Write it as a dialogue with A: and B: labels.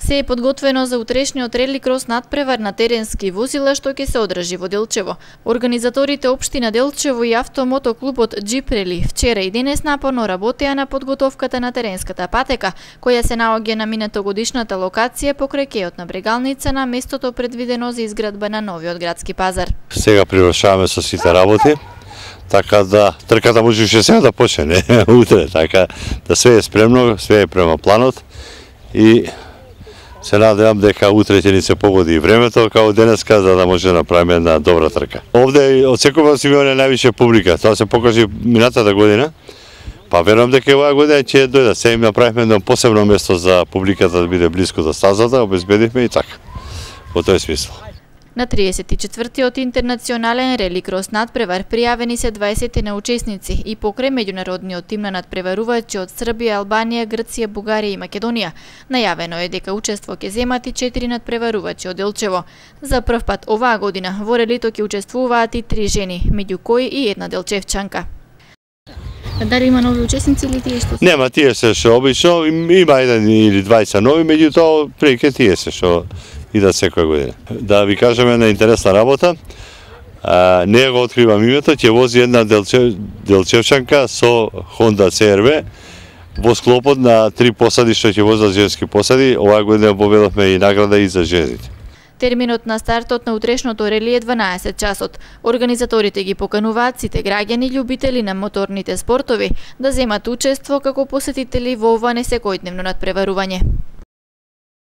A: Се е подготвено за утрешниот рели крос надпревар на теренски возила што ќе се одржи во Делчево. Организаторите општина Делчево и автомотоклубот Джип Рели вчера и денес напорно работеа на подготовката на теренската патека, која се наоѓа на минатогодишната локација покрај кејот на Брегалница на местото предвидено за изградба на новиот градски пазар.
B: Сега привршаваме со сите работи, така да трката можеше сега да почне, утре, така да све е спремно, све е према планот и се надевам дека утре ќе ни се погоди и времето како денеска за да може да направиме една добра трка. Овде очекувам да имаме највише публика, тоа се покажи минатата година. Па верувам дека оваа година ќе дојде. Се им направивме едно посебно место за публиката да биде блиско до стазата, обезбедивме и така. Во тој смисла.
A: На 34-тиот интернационален рели крос надпревар пријавени се 20 учесници и покрај меѓународниот тим на надпреварувачи од Србија, Албанија, Грција, Бугарија и Македонија. Најавено е дека учество ќе земат и 4 надпреварувачи од Делчево. За прв пат оваа година во релито ќе учествуваат и 3 жени, меѓу кои и една делчевчанка. Дали има нови учесници или тие што?
B: Нема, тие се што обично, има еден или двајца нови, меѓутоа преќе тие се што идат секоја година. Да ви кажеме една интересна работа, не го откривам името, ќе вози една делчевчанка со Honda CR-V во склопот на 3 посади што ќе возат женски посади. Оваа година победовме и награда и за жените.
A: Терминот на стартот на утрешното рели е 12 часот. Организаторите ги покануваат сите граѓани љубители на моторните спортови да земат учество како посетители во ова несекојдневно надпреварување.